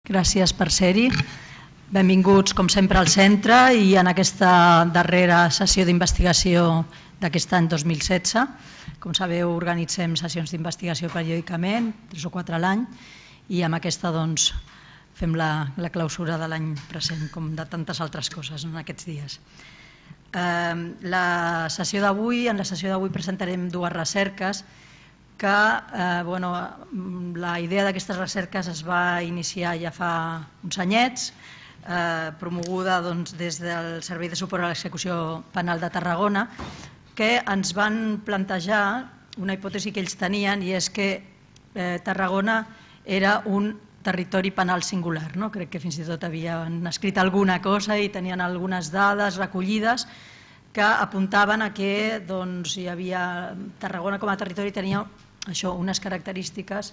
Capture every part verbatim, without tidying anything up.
Gràcies per ser-hi. Benvinguts, com sempre, al centre i en aquesta darrera sessió d'investigació d'aquest any dos mil setze. Com sabeu, organitzem sessions d'investigació periòdicament, tres o quatre a l'any, i amb aquesta doncs, fem la, la clausura de l'any present, com de tantes altres coses en aquests dies. Eh, la sessió d'avui, en la sessió d'avui presentarem dues recerques que eh, bueno, la idea d'aquestes recerques es va iniciar ja fa uns anyets, eh, promoguda doncs, des del Servei de Suport a l'Execució Penal de Tarragona, que ens van plantejar una hipòtesi que ells tenien, i és que eh, Tarragona era un territori penal singular. No? Crec que fins i tot havien escrit alguna cosa i tenien algunes dades recollides que apuntaven a que doncs, hi havia, Tarragona com a territori tenia això, unes característiques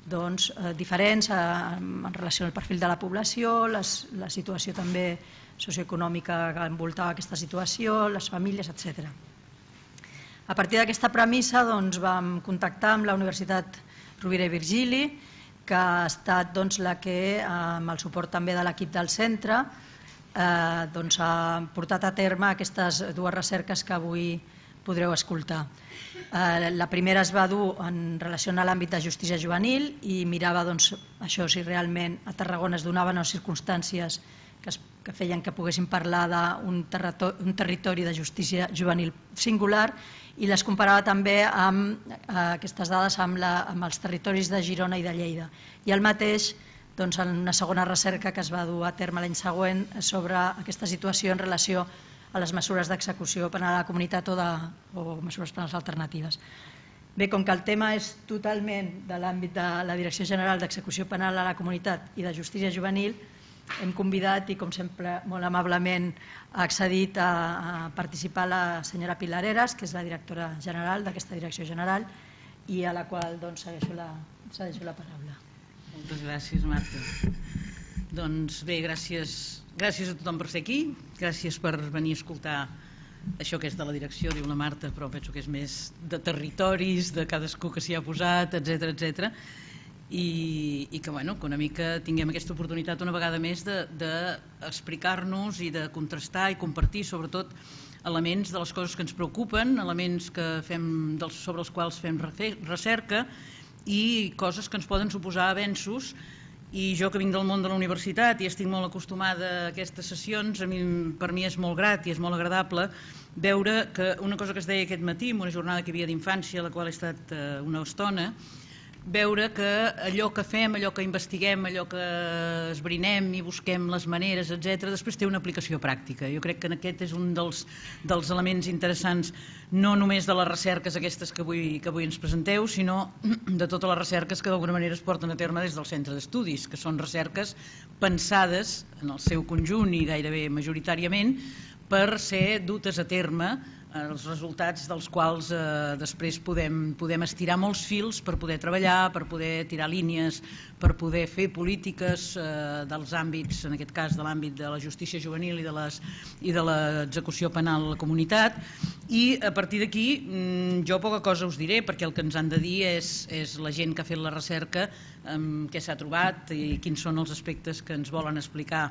doncs, eh, diferents eh, en relació al perfil de la població, les, la situació també socioeconòmica que envoltava aquesta situació, les famílies, etcètera. A partir d'aquesta premissa doncs, vam contactar amb la Universitat Rovira i Virgili, que ha estat doncs, la que, amb el suport també de l'equip del centre, eh, doncs, ha portat a terme aquestes dues recerques que avui podreu escoltar. Eh, la primera es va dur en relació a l'àmbit de justícia juvenil i mirava doncs, això, si realment a Tarragona es donaven les circumstàncies que, es, que feien que poguéssim parlar d'un territori, un territori de justícia juvenil singular, i les comparava també amb eh, aquestes dades amb, la, amb els territoris de Girona i de Lleida. I el mateix doncs, en una segona recerca que es va dur a terme l'any següent sobre aquesta situació en relació a les mesures d'execució penal a la comunitat o, de, o mesures penals alternatives. Bé, com que el tema és totalment de l'àmbit de la Direcció General d'Execució Penal a la Comunitat i de Justícia Juvenil, hem convidat i, com sempre, molt amablement ha accedit a, a participar la senyora Pilar Heras, que és la directora general d'aquesta Direcció General, i a la qual doncs, segueixo, la, segueixo la paraula. Moltes gràcies, Marta. Doncs bé, gràcies, gràcies a tothom per ser aquí, gràcies per venir a escoltar això que és de la direcció, diu la Marta, però penso que és més de territoris, de cadascú que s'hi ha posat, etcètera, etcètera. I, i que, bueno, que una mica tinguem aquesta oportunitat una vegada més d'explicar-nos i de contrastar i compartir sobretot elements de les coses que ens preocupen, elements que fem, dels, sobre els quals fem recerca i coses que ens poden suposar avenços. I jo, que vinc del món de la universitat i estic molt acostumada a aquestes sessions, a mi, per mi és molt grat i és molt agradable veure que una cosa que es deia aquest matí en una jornada que hi havia d'infància, a la qual he estat una estona, veure que allò que fem, allò que investiguem, allò que esbrinem i busquem les maneres, etcètera, després té una aplicació pràctica. Jo crec que aquest és un dels, dels elements interessants, no només de les recerques aquestes que avui, que avui ens presenteu, sinó de totes les recerques que d'alguna manera es porten a terme des del centre d'estudis, que són recerques pensades en el seu conjunt i gairebé majoritàriament per ser dutes a terme, els resultats dels quals eh, després podem, podem estirar molts fils per poder treballar, per poder tirar línies, per poder fer polítiques eh, dels àmbits, en aquest cas de l'àmbit de la justícia juvenil i de, les, i de l'execució penal a la comunitat. I a partir d'aquí jo poca cosa us diré, perquè el que ens han de dir és, és la gent que ha fet la recerca, eh, què s'ha trobat i quins són els aspectes que ens volen explicar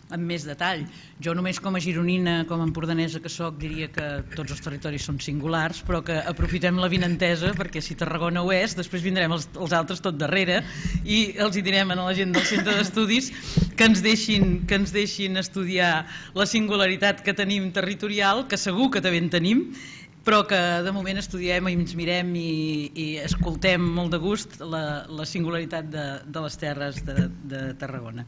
amb més detall. Jo només com a gironina, com a empordanesa que soc, diria que tots els territoris són singulars, però que aprofitem la vinentesa, perquè si Tarragona ho és, després vindrem els, els altres tot darrere i els hi direm a la gent del centre d'estudis que ens deixin, que ens deixin estudiar la singularitat que tenim territorial, que segur que també en tenim, però que de moment estudiem i ens mirem i, i escoltem molt de gust la, la singularitat de, de les terres de, de Tarragona.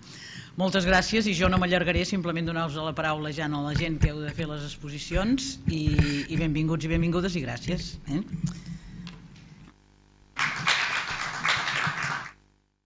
Moltes gràcies, i jo no m'allargaré, simplement donar-vos la paraula ja a la gent que heu de fer les exposicions, i, i benvinguts i benvingudes i gràcies. Eh?